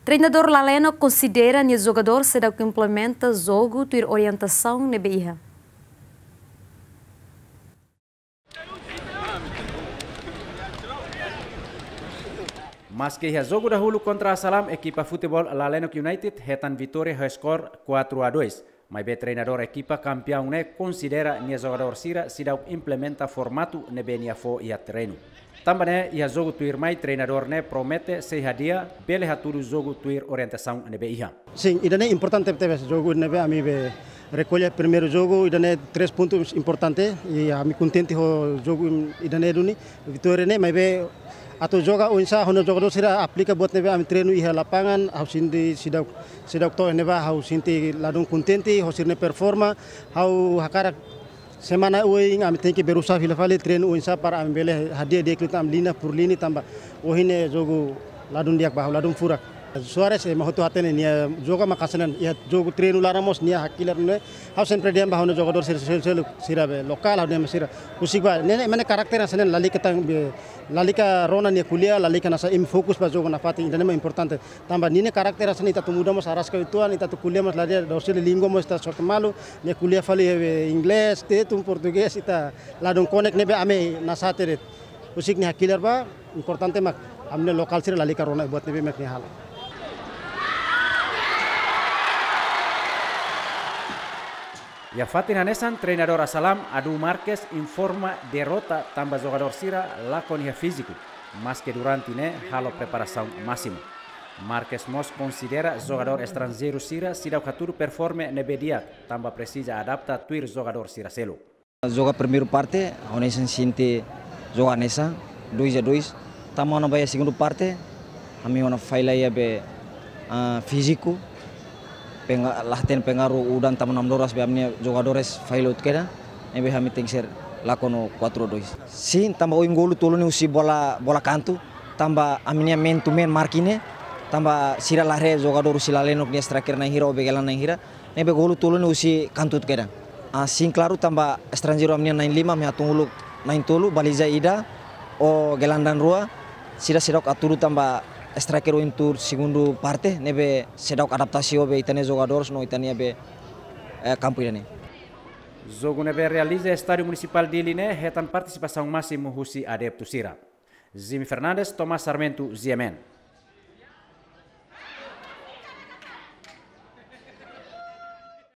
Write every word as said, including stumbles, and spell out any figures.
Treinadór Laleno konsidera nia jogadór seidauk implementa jogu tuir orientasaun ne'ebé iha. Maske iha jogu dahuluk kontra Asalam, ekipa futeból Lalenok United hetan vitória ho skor quatro a dois. Maibé treinadór ekipa kampiaun ne'e konsidera nia jogadór sira seidauk implementa formatu ne'ebé nia fó iha terrenu. Tanba ne'e, iha jogu tuirmai treinadór ne'e promete sei hadi'a bele hatudu jogu tuir orientasaun ne'ebé iha. Sin, ida-ne'e importante tebes jogu ne'ebé ami be rekolla primeiru jogu, ida-ne'e três pontus importante, i ami kontente ho jogu ida-ne'e duni, vitória ne'e, maibé atu joga oinsá ho jogadór sira aplika buat ne'ebé ami treinu iha lapangan, ha'u sente seidauk, seidauk to'o ne'ebá, ha'u sente ladún kontente ho sira-nia performa, ha'u hakarak semana oin ami tenke berusaha fila fali treinu oinsá para ami bele hadi'a di'ak liután ami liña por liña tanba ohin ne'e jogu ladún di'ak ba, ladún furak. Suarez ema hotu hatene nia joga mak hanesan ne'e, iha jogu treinu laran mós nia hakilar ne'e. Ha'u sempre dehan ba ha'u-nia jogadór sira, sira, sira, sira be lokál, ha'u dehan ba sira. Husik ba, ne'e, ne'e mak ne'e karakter hanesan ne'e, lalika tan be, lalika rona nia ko'alia, lalika hanesan imi fokus ba jogu nafatin, ida-ne'e mak importante. Tanba ninia karakter hanesan ne'e, ita atu muda mós araska uitoan, ita atu ko'alia mós ladún, dorsile língua mós ita sorte malu, nia ko'alia fali, eh, inglés, tetun portugés, ita ladún konek ne'ebé ami hanesan ne'e de'it. Husik nia hakilar ba, importante mak ami-nia lokál sira lalika rona buat ne'ebé mak nia halo. Iha fatin hanesan, treinadór Asalam, Adu Marques, informa derrota tanba jogadór sira lakon iha fíziku, maske durante ne'e halo preparasaun másimu. Marques mós konsidera jogadór estranjeiru sira seidauk hatudu performa ne'ebé di'ak, tanba presiza adapta tuir jogadór sira seluk. Joga primeiru parte, ha'u hanesan sente joga hanesan, dois a dois. Tanba ha'u-nia ba iha segundu parte, ami ha'u-nia falla iha be, ah, fíziku, penga-, la hatene pengaruh udan tanba namdoras be ami-nia jogadores falla hotu kedan, ne'ebé ami tenke ser lakon ho quatro dois. Sin, tanba ohin golu tolu ne'e husi bola, bola kantu, tanba ami-nia man to man marking ne'e, tanba sira la haree jogadór husi Lalenok nia striker na'in hira ou be gelan na'in hira, ne'ebé golu tolu ne'e husi kantu hotu kedan. Ah, sin, klaru, tanba estranjeiru ami-nia na'in lima, ami hatún uluk na'in tolu, baliza ida, ho gelandang rua, sira seidauk hatudu tanba striker ohin tuur segundu parte, ne'ebé seidauk adaptasi ho be ita-nia jogadores no ita-nia be, eh, kampu ida-ne'e. Jogu ne'ebé realiza iha Estádiu Munisipál Dili ne'e hetan partisipasaun másimu husi adeptu sira. Jimmy Fernandes, Tomás Sarmento, G M N.